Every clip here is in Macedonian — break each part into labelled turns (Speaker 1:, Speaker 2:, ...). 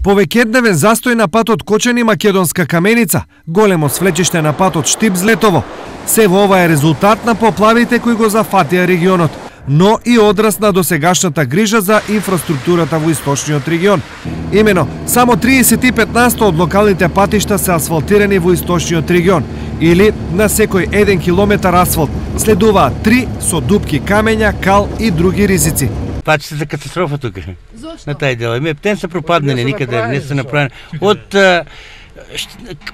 Speaker 1: Повеќедневен застој на патот Кочани Македонска Каменица, големо свлечиште на патот Штип-Злетово. Се во ова е резултат на поплавите кои го зафатија регионот, но и одраз на досегашната грижа за инфраструктурата во источниот регион. Имено, само 35% од локалните патишта се асфалтирани во источниот регион, или на секој 1 километар асфалт. Следуваат 3 со дупки камења, кал и други ризици.
Speaker 2: Патиште за катастрофа тука. На тај дел. Птен се пропаднали, никаде не се направени. Од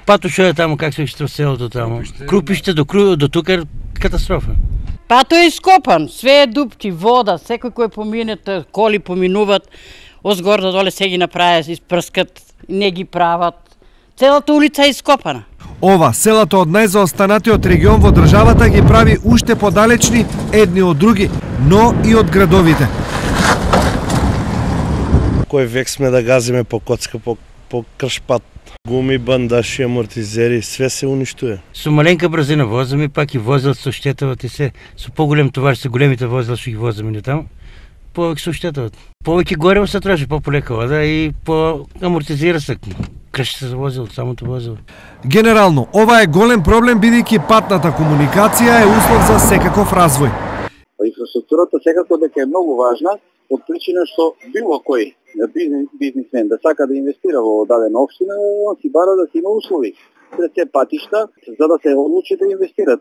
Speaker 2: пато што е таму, как се виште селото таму. Крупиште до тука е катастрофа.
Speaker 3: Пато е ископан, све е дупки, вода, секој кој помине, коли поминуваат, озгор до доле се ги направи, испрскат, не ги прават. Целата улица е ископана.
Speaker 1: Ова, селата од најзаостанатиот регион во државата ги прави уште подалечни едни од други, но и од градовите.
Speaker 4: Кој век сме да газиме по коцка, по кршпат. Гуми, бандаши, амортизери, све се уништуе.
Speaker 2: Со маленка брзина возиме, пак и возел со штетават и се. Со поголем товар се големите возела што ги возиме не таму. Повеќе со штетават. Повеќе гориво се троши, по-полека вода и амортизира се. Крши се за возило, самото возило.
Speaker 1: Генерално, ова е голем проблем бидејќи патната комуникација е услов за секаков развој.
Speaker 5: Инфраструктурата секако дека е многу важна, од причина што било кој бизнисмен да сака да инвестира во дадена општина, он си бара да си има услови пред се патишта за да се одлучи да инвестира.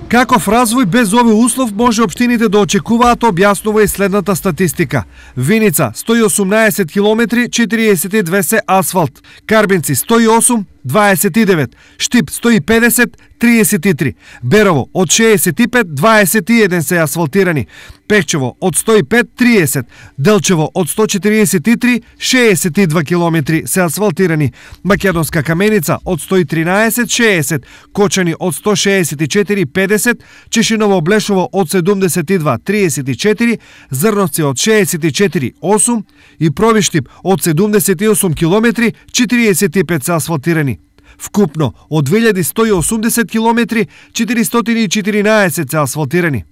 Speaker 1: Каков развој без овој услов може општините да очекуваат, објаснува и следната статистика. Виница 118 километри, 42 се асфалт. Карбинци 108, 29, Штип 150, 33, Берово од 65, 21 се асфалтирани, Пехчево од 105, 30, Делчево од 143, 62 километри се асфалтирани, Македонска Каменица од 113, 60, Кочани од 164, 50, Чешиново Блешово од 72, 34, Зрновци од 64, 8 и Провиштип од 78 километри, 45 се асфалтирани. Вкупно од 2180 километри, 414 се асфалтирани.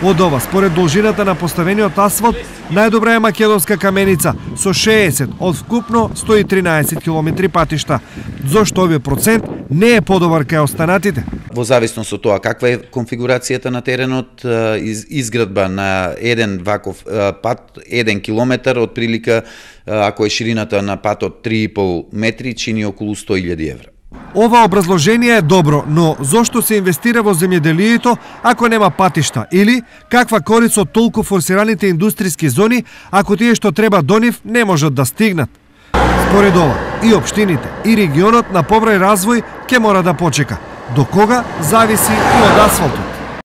Speaker 1: Од ова, според должината на поставениот асфалт, најдобра е Македонска Каменица со 60 од вкупно 113 километри патишта. Зошто овој процент не е подобар кај останатите?
Speaker 6: Во зависност од тоа каква е конфигурацијата на теренот, изградба на еден ваков пат, 1 километар, од прилика, ако е ширината на патот 3,5 метри, чини околу 100.000 евра.
Speaker 1: Ова образложение е добро, но зошто се инвестира во земјоделието ако нема патишта? Или каква корист од толку форсираните индустријски зони ако тие што треба до нив не можат да стигнат? Според ова, и општините, и регионот на побрај развој ќе мора да почека. До кога зависи и од асфалтот.